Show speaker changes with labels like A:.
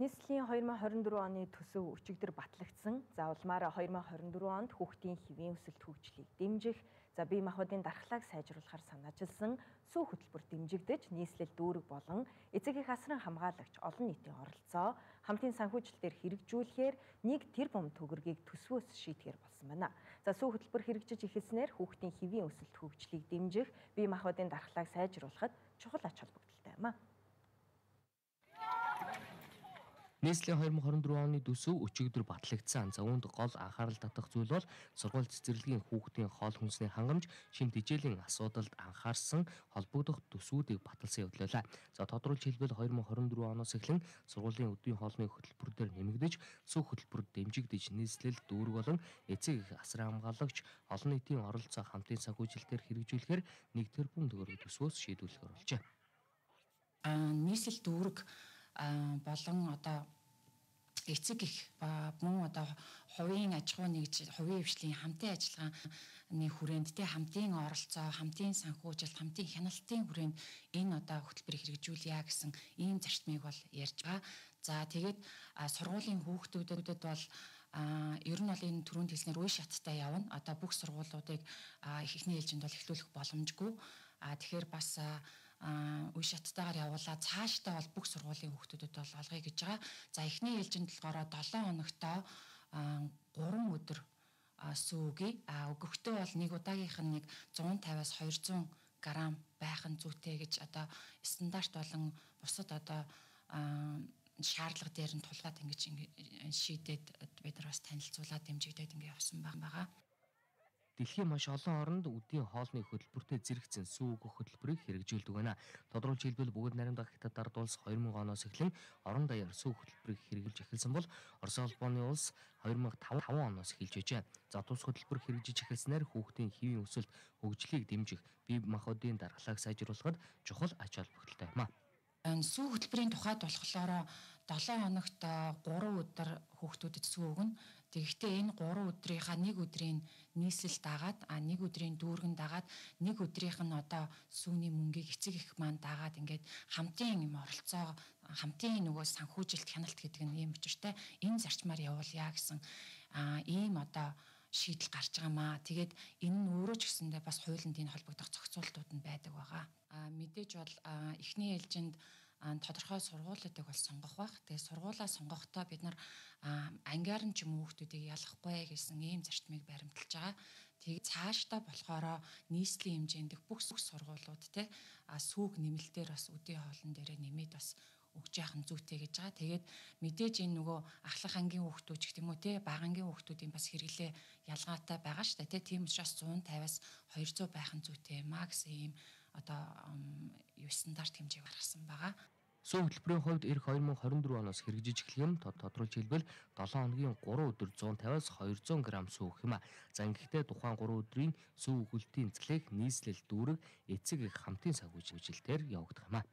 A: Нийслэлийн 2024 оны төсөв өчигдөр батлагдсан. За улмаар 2024 онд хүүхдийн хэвийн өсөлт хөгжлийг дэмжих, бие махбодын дархлааг сайжруулахар санаачилсан сүү хөтөлбөр дэмжигдэж, нийслэл дүүрэг болон эцэг эх асран хамгаалагч олон нийтийн оролцоо хамтын санхүүжилтээр хэрэгжүүлэхээр 1 тэрбум төгрөгийг төсвөөс шийдэхээр болсон байна. За сүү хөтөлбөр хэрэгжиж эхэлснээр хүүхдийн хэвийн өсөлт хөгжлийг дэмжих, бие махбодын дархлааг сайжруулахад чухал ач холбогдолтой юм а.
B: Нийслэлийн 2024 оны төсөв өчигдөр батлагдсан. За үүнд гол анхаарал татах зүйл бол сургууль цэцэрлэгийн хүүхдийн хоол хүнсний хангамж, шин тэжээлийн асуудалд анхаарсан холбогдох төсвүүдийг баталсан явдал байлаа. За тодорхойлж хэлбэл 2024 оноос эхлэн сургуулийн өдрийн хоолны хөтөлбөр дээр нэмэгдэж, сүү хөтөлбөр дэмжигдэж, нийслэл дүүрэг болон эцэг эх асран хамгаалагч олон нийтийн оролцоо хамтын санхүүжилтээр хэрэгжүүлэхээр 1 тэрбум төгрөг төсвөөс шийдвэрлэхээр болжээ.
C: Нийслэл дүүрэг болон одоо эцэг их мөн одоо хувийн аж ахуй нэгж хувийн хвшлийн хамтын ажиллагааны хүрээнд хамтын оролцоо, хамтын санхүүжилт, хамтын хяналтын хүрээнд энэ одоо хөтөлбөрийг хэрэгжүүлье гэсэн ийм зарчмыг бол ярьж байгаа. За тэгээд сургуулийн хүүхдүүдэд бол ер нь бол энэ түрүүнд хэлснээр үе шаттай явна. Одоо бүх сургуулиудыг эхний ээлжинд бол эхлүүлэх боломжгүй. Тэгэхээр бас үе шаттайгаар явуулаад цаашдаа бол бүх сургуулийн хүүхдүүдэд бол олгоё гэж байгаа. За эхний ээлжинд болохоор 7 хоногтоо 3 өдөр сүүгээ. Өгөхдөө бол нэг удаагийнх нь нэг 150-аас 200 грамм байх нь зүйтэй гэж одоо стандарт болон бусад одоо шаардлага дээр нь тулгаад ингэж шийдээд бид нар бас танилцуулаад дэмжигдээд ингэ явсан байгаа.
B: Дэлхийн маш олон оронд өдийн хоолны хөтөлбөртэй зэрэгцэн сүү өгөх хөтөлбөрийг хэрэгжүүлдэг байна. Тодорхойлж хэлбэл бүгд найрамдах Хятад ард улс 2000 оноос эхлэн орон даяар сүү хөтөлбөрийг хэрэгжилж эхэлсэн бол Орос улбаны улс 2005 оноос эхэлж байжээ. За тус хөтөлбөр хэрэгжиж эхэлснээр хүүхдийн хэвийн өсөлт хөгжлийг дэмжих, бие махбодын дархлааг сайжруулахад чухал ач холбогдолтой юм а.
C: Сүү хөтөлбөрийн тухайд болохоор 7 хоногт 3 өдөр хүүхдүүдэд сүү өгнө. Тэгэхдээ энэ 3 өдрийнхаа 1 өдрийн нийслэл дагаад, 1 өдрийн дүүргэн дагаад, 1 өдрийнх нь одоо сүүний мөнгийг эцэг эх маань дагаад ингээд хамтын юм оролцоо, хамтын нөгөө санхүүжилт хяналт гэдэг нь ийм учиртай. Энэ зарчмаар явуулъя гэсэн ийм одоо шийдэл гарч байгаамаа. Тэгээд энэ нь өөрөө ч гэсэндээ бас хуулинд энэ холбогдох зохицуултууд нь байдаг байгаа. Мэдээж бол эхний ээлжинд тодорхой сургуулиудыг бол сонгох байх. Тэгээд сургуулаа сонгохдоо бид нар ангиар нь ч юм уу хүүхдүүдийг ялахгүй гэсэн ийм зарчмыг баримталж байгаа. Тэгээд цаашдаа болохоор нийслэлийн хэмжээнд бүх сургуулиуд сүүг нэмэлтээр бас өдийн хоолн дээрээ нэмээд бас өгж яах нь зүйтэй гэж байгаа. Тэгээд мэдээж энэ нөгөө ахлах ангийн хүүхдүүд ч гэх юм уу бага ангийн хүүхдүүдийн бас хэрэглээ ялгаатай байгаа шүү дээ. Тийм учраас 150-аас 200 байх нь зүйтэй юм а гэсэн ийм одоо стандарт хэмжээг гаргасан байгаа.
B: Сүү хөтөлбөрийн хувьд эх 2024 оноос хэрэгжиж эхлэх юм. Тодорхойлж хэлбэл 7 хоногийн 3 өдөр 150-аас 200 грамм сүү өгөх юм а. За ингэхдээ тухайн 3 өдрийн сүү өгүүлтийн цэглэх нийслэл дүүрэг эцэг эх хамтын санхүүжилтээр явагдах юм а.